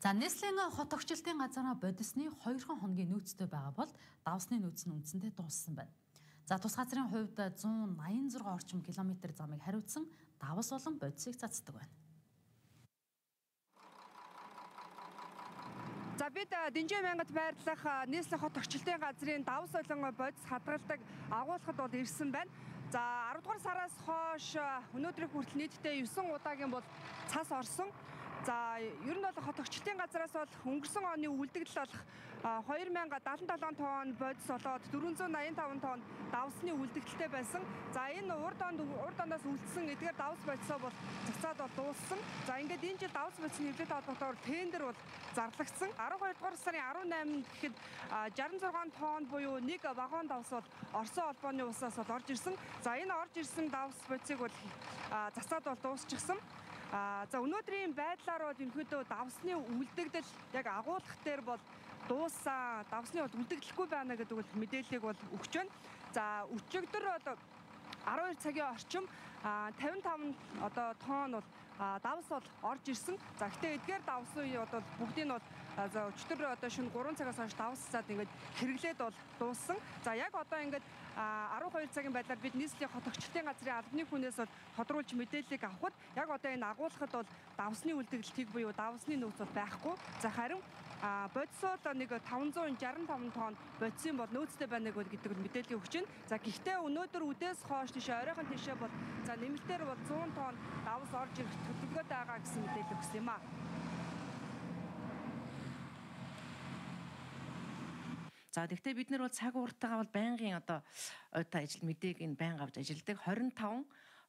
За нийслэлийн хот тогтчлтын газараа бодисны 2 хоногийн нөөцтэй байгаа бол давсны нөөц нь үндсэндээ дууссан байна. За тус газрын хувьд 186 орчим километр замыг хариуцсан давс болон бодисыг цацдаг байна. За бид Дэнжээ мянгад байрлах нийслэлийн хот тогтчлтын газрын давс болон бодис хадгалдаг агуулгад бол ирсэн байна. За 10 дугаар сараас хойш өнөөдрийн хүртэл нийтдээ 9 удаагийн бол цас орсон. За ер нь бол хот тогтчлтын газраас бол өнгөрсөн оны үлдэгдэл болох 2077 тонн бодис болоод 485 тонн давсны үлдэгдэлтэй байсан. За энэ урд оноос үлдсэн эдгээр давс бодисоо бол цацаад бол дууссан. За ингээд энэ жил давс бодисны хэвлэлтэй холбоотойгоор тендер бол зарлагдсан. 12 дугаар сарын 18-нд гэхэд 66 тонн буюу нэг вагон давс бол Орсын холбооны усаас бол орж ирсэн. За энэ орж ирсэн давс бодисыг бол цацаад бол дуусчихсан. За өнөөдрийн байдлаар бол ерөнхийдөө давсны үлдэгдэл яг агуулгах дээр бол дууссан. Давсны бол үлдэгдэлгүй байна гэдэг бол мэдээллийг бол өгч байна. За өчигдөр бол 12 цагийн орчим 55 тонн бол давс бол орж ирсэн. За гэхдээ эдгээр давсын бол бүгдийг нь бол за өчигдөр шөнө 3 цагаас хойш давс цаад ингээд хэрэглээд бол дууссан. За яг одоо ингээд 12 цагийн байдлаар бид нийслэлийн хот тогтчлтын газрын албаны хүнээс бол тодруулж мэдээллийг авахд яг одоо энэ агуулгахад бол давсны үлдэгдэлтийг буюу давсны нөөц бол байхгүй. За харин бодисоо нэг 565 тонн бодисын бол нөөцтэй байна гэдэг мэдээлэл өгч байна. За гэхдээ өнөөдөр үдээс хойш тийш оройхон тийшээ бол за нэмэлтээр бол 100 тонн давс орж ирэх төлөвлөгөөтэй байгаа гэсэн мэдээлэл өгсөн юм аа. За тэгвэл бид нар бол цаг ууртайгаа бол байнгын ойтой ажил мэдээг энэ байнга авч ажилладаг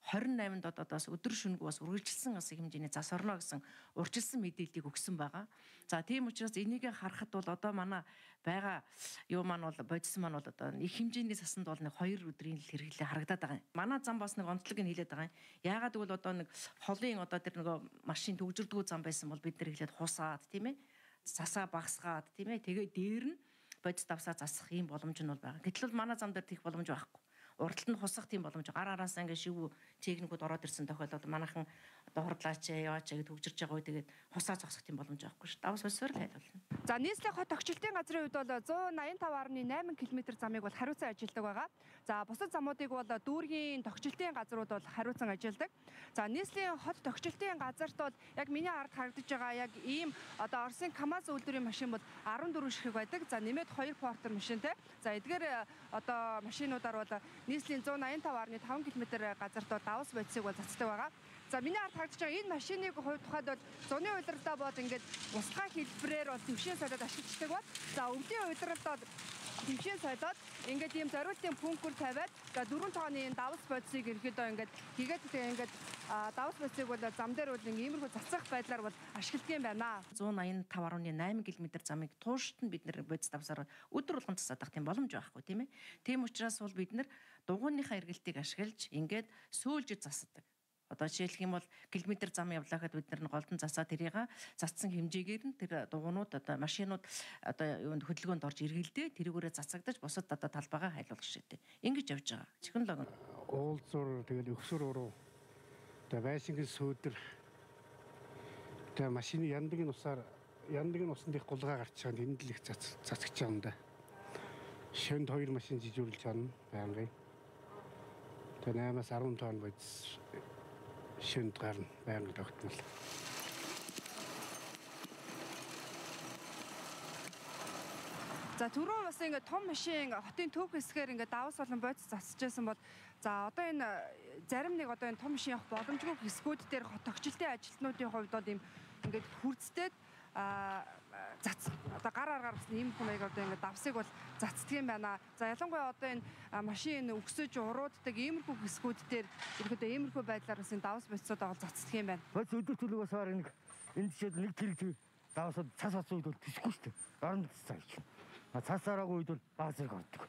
28-нд одоос өдөр шөнөгүй бас үргэлжилсэн бас хэмжээний зас орно гэсэн урьдчилсан мэдээллийг өгсөн байгаа. За тийм учраас энийг харахад бол одоо манай байгаа юу маань бол бодис маань бол одоо их хэмжээний засанд бол нэг 2 өдрийн л хэрэглээ харагдаад байгаа юм. Манай зам бас нэг онцлог нь хэлээд байгаа юм. Яагаад гэвэл одоо нэг холын одоо тэр нөгөө машин төгжирдгүү зам байсан бол бид нар хэлээд хусаад тийм ээ засаа багсгаад тийм ээ тэгээ дээр нь бодис давсаа засах юм боломж нь бол байгаа. Гэтэл бол манай зам дээр тийх боломж байхгүй. Урдталд нь хусах тийм боломж гар араасаа ингээ шивүү техникүүд ороод ирсэн тохиолдолд манайхан одоо хордлаач яваач гэж төгжирж байгаа үе тэгээд хусаа зогсох тийм боломж байхгүй шүү. Давс болсоор л хайлуулна. За нийслэлийн хот тогтчлтын газрын хувьд бол 185.8 км замыг бол хариуцан ажилладаг байгаа. За бусад замуудыг бол дүүргийн тогтчлтын газрууд бол хариуцан ажилладаг. За нийслэлийн хот тогтчлтын газарт бол яг миний ард харагдаж байгаа яг ийм одоо Оросын КАМАЗ үйлдвэрийн машин бол 14 ширхэг байдаг. За нэмээд 2 портер машинтай. За эдгээр одоо машинуудаар бол нийслэлийн 185.5 км газарт давс бодисыг бол цацдаг байгаа. За миний ард харагдаж байгаа энэ машиныг тухайд бол зуны удирдлагаа бод ингээд устгай хэлбэрээр бол төвшин солиод ашигладаг бол за өвлийн удирдлагад төвшин солиод ингээд ийм зориултын пунктүр тавиад за 4 тооны давс бодисыг ерөөдөө ингээд хийгээд тэгээ ингээд давс бодисыг бол зам дээр бол иймэрхүү цацах байдлаар бол ашигладаг юм байна. 185.8 км замыг туушт нь бид нэр бодис давсаар өдөр болгон цацаадах тийм боломж байхгүй тийм ээ. Тийм учраас бол бид нар дугуйныхаа эргэлтийг ашиглаж ингээд сөүлж засдаг. Одоо жишээлх юм бол километр зам явлаахад бид нар голдон засаа тэрийг цацсан хэмжээгээр нь тэр дугуйнууд одоо машинууд одоо юунд хөдөлгөөнд орж эргэлдээ тэрүүгээрээ цацагдаж бусад одоо талбайгаа хайлуулах шигтэй. Ингэж явж байгаа. Технологи. Уулзуур тэгэл өксөр уруу. Тэгээ байшингийн сүүдэр тэгээ машины яндаг усан дэх гулгаа гарч байгаа тэнд л их цацгаж байгаа юм да. Шөнд 2 машин жижүүрлж байгаа байнгын. Тэгээ 8-аас 10 тонн бодис шөнд гарна байнга тогтмол. За түрүүн бас ингээд том машин хотын төв хэсгээр ингээд давс болон бодис засаж байсан бол за одоо энэ зарим нэг одоо энэ том машин явах боломжгүй хэсгүүд дээр хот тогтчлтын ажилтнуудын хувьд бол ийм ингээд хүрцтэй одоо гар аргаар бас ийм хүмүүс одоо ингээд давсыг бол цацдаг юм байна. За ялангуяа одоо энэ машин өксөж урууддаг иймэрхүү хэсгүүд дээр ерөөдөө иймэрхүү байдлаар бас энэ давс бодисууд бол цацдаг юм байна. Бодис өдөр төлөвөөс хаар нэг энэ жишээд нэг тэрэг давсууд цас оцсон үед бол тэсэхгүй шүү дээ. Оронд цаа гэж. Цас араагүй үед бол баг зэрэг ордог.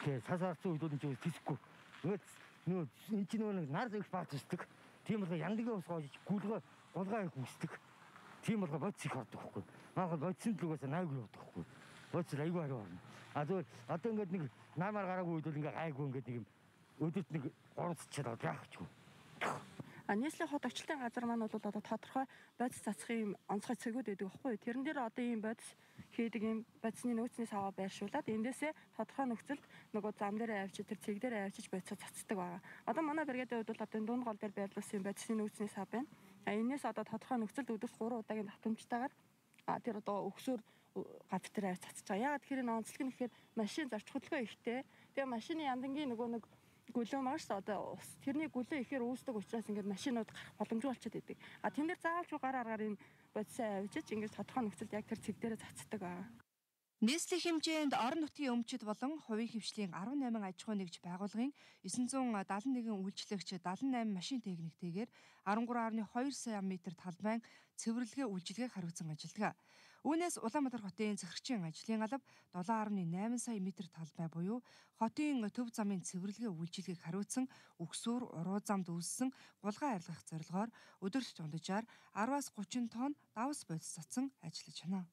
Тэгээ цас арцсан үед бол энэ тэсэхгүй. Нөгөө энэ чинь нэг нар зэрэг баг зүсдэг. Тийм болохоор яндагийн ус гоож гулгаа их үсдэг. Тийм болохоор бодис их ордог байхгүй. Манайхад бодисын төлөвөөс 80 явдаг байхгүй. Бодис айгүй хараа орно. Зүгээр одоо ингээд нэг наамаар гараагүй үед бол ингээд гайгүй ингээд нэг юм өдөрт нэг 3 цачаад яах ч вэ. Нийслэлийн хот орчлтын газар маань бол одоо тодорхой бодис цацхын онцгой цэгүүд байдаг байхгүй юу? Тэрэн дээр одоо ийм бодис хийдэг ийм бодисны нөөцнээс аваа байршуулад эндээсээ тодорхой нөхцөлд нөгөө зам дээр авчиж тэр цэг дээр авчиж бодисоо цацдаг байгаа. Одоо манай бригадын хувьд бол одоо дунд гол дээр байрлуулсан бодисны нөөцнээс аваа байна. Энээс одоо тодорхой нөхцөлд өдөрт 3 удаагийн давтамжтайгаар тэр одоо өгсөөр гавь дээр цацж байгаа. Яагаад тэгэхээр онцлог нь гэхээр машин зарч хөдөлгөөн ихтэй. Тэгээ машины яндангийн нөгөө нэг гүлөө маш одоо ус тэрний гүлөө ихээр үүсдэг учраас ингээд машинууд гарах боломжгүй болчиход идэг. Тэн дээр заавалж гар аргаар энэ бодисоо авчиж ингээд тодорхой нөхцөлд яг тэр цэг дээрээ цацдаг аа. Нийслэлийн хэмжээнд орон нутгийн өмчид болон хувийн хвшлийн 18 аж ахуй нэгж байгууллагын 971 үйлчлэгч 78 машин техниктэйгээр 13.2 сая метр талбайн цэвэрлэгээ үйлчилгээг хариуцсан ажилладаг. Үүнээс Улаанбаатар хотын захирагчийн ажлын алба 7.8 сая метр талбай буюу хотын төв замын цэвэрлэгээ үйлчилгээг хариуцсан өгсөөр уруу замд үүссэн гулгай арилгах зорилгоор өдөрт дунджаар 10-аас 30 тонн давс бодис цацсан ажиллаж байна.